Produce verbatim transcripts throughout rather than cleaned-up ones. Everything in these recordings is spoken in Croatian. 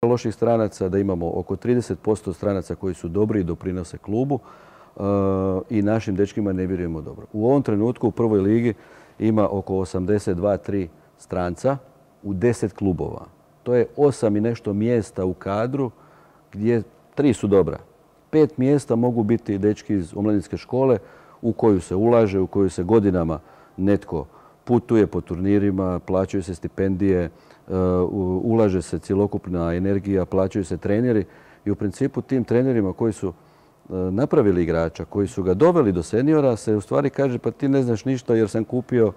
loših stranaca, da imamo oko trideset posto stranaca koji su dobri i doprinose klubu i našim dečkima ne vjerujemo dobro. U ovom trenutku u prvoj ligi ima oko osamdeset dva tri stranca u deset klubova. To je osam i nešto mjesta u kadru gdje tri su dobra. Pet mjesta mogu biti dečki iz omladinske škole u koju se ulaže, u koju se godinama netko putuje po turnirima, plaćaju se stipendije, ulaže se cjelokupna energija, plaćaju se treneri i u principu tim trenerima koji su napravili igrača, koji su ga doveli do seniora, se u stvari kaže pa ti ne znaš ništa jer sam kupio,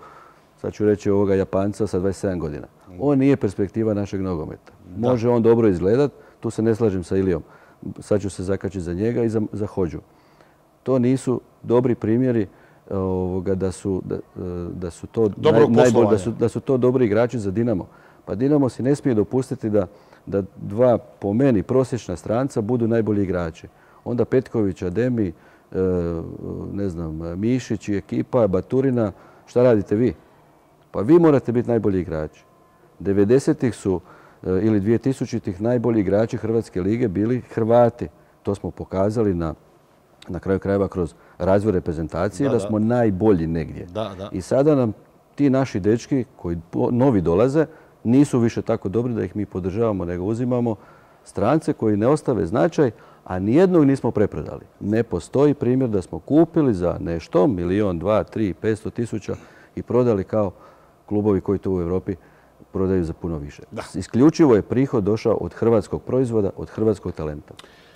sad ću reći ovoga Japanca sa dvadeset sedam godina. On nije perspektiva našeg nogometa. Može on dobro izgledat, tu se ne slažem sa Ilijom. Sad ću se zakačiti za njega i za, za Hođu. To nisu dobri primjeri ovoga, da, su, da, da, su to naj, najbolj, da, su, da su to dobri igrači za Dinamo. Pa Dinamo si ne smije dopustiti da, da dva po meni prosječna stranca budu najbolji igrači. Onda Petković, Ademi, ne znam, Mišić i ekipa, Baturina, šta radite vi? Pa vi morate biti najbolji igrači. devedesetih su ili dvije tisućitih najbolji igrači Hrvatske lige bili Hrvati. To smo pokazali na, na kraju krajeva kroz razvoj reprezentacije da, da smo najbolji negdje. Da, da. I sada nam ti naši dečki koji novi dolaze nisu više tako dobri da ih mi podržavamo, nego uzimamo strance koji ne ostave značaj, a nijednog nismo preprodali. Ne postoji primjer da smo kupili za nešto, milijon, dva, tri, petsto tisuća i prodali kao klubovi koji to u Europi prodaju za puno više. Da. Isključivo je prihod došao od hrvatskog proizvoda, od hrvatskog talenta.